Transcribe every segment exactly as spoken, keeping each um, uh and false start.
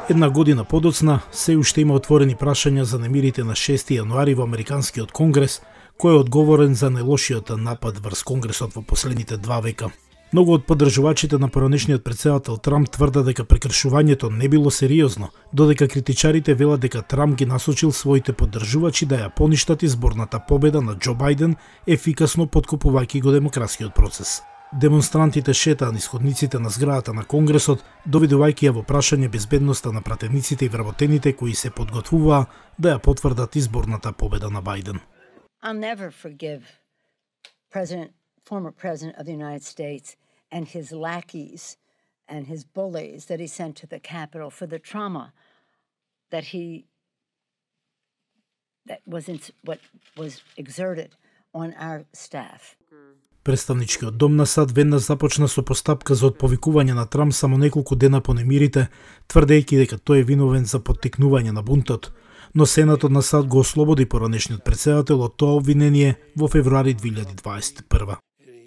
Една година подоцна, се уште има отворени прашања за немирите на шести јануари во Американскиот конгрес, кој е одговорен за најлошиот напад врз конгресот во последните два века. Многу од поддржувачите на поранешниот претседател Трамп тврдат дека прекршувањето не било сериозно, додека критичарите велат дека Трамп ги насочил своите поддржувачи да ја поништат изборната победа на Џо Бајден, ефикасно поткопувајќи го демократскиот процес. Демонстрантите шетаа низ ходниците на зградата на Конгресот, доведувајќи ја во прашање безбедноста на пратениците и вработените кои се подготвуваа да ја потврдат изборната победа на Бајден. I'll never forgive President, former President of the United States and his lackeys and his bullies that he sent to the Capitol for the trauma that he that was in, what was exerted on our staff. Представничкиот дом на САД веднаш започна со постапка за отповикување на Трамп само неколку дена по немирите, тврдејќи дека тој е виновен за поттикнување на бунтот, но Сенатот на САД го ослободи поранешниот претседател од тоа обвинение во февруари две илјади дваесет и прва.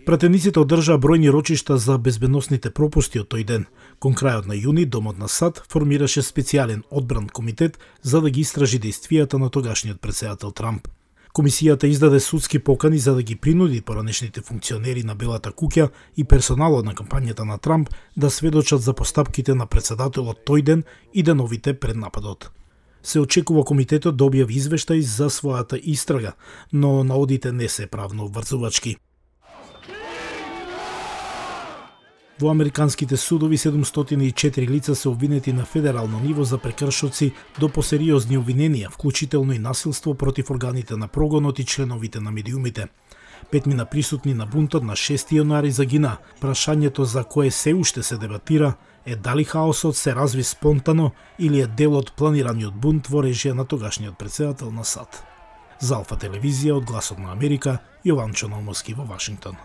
Пратениците одржаа бројни рочишта за безбедносните пропусти од тој ден. Кон крајот на јуни, Домот на САД формираше специјален одбран комитет за да ги истражи дејствијата на тогашниот претседател Трамп. Комисијата издаде судски покани за да ги принуди поранешните функционери на Белата куќа и персоналот на кампањата на Трамп да сведочат за постапките на претседателот тој ден и деновите пред нападот. Се очекува комитетот да објави извештај за својата истрага, но наодите не се правно обврзувачки. Во американските судови седумстотини и четири лица се обвинети на федерално ниво за прекршоци до посериозни обвиненија, вклучително и насилство против органите на прогонот и членовите на медиумите. Петмина присутни на бунтот на шести јануари загина. Прашањето за кое се уште се дебатира е дали хаосот се разви спонтано или е дел од планираниот бунт во режија на тогашниот претседател на САД. За Алфа телевизија од Гласот на Америка, Јован Чономовски во Вашингтон.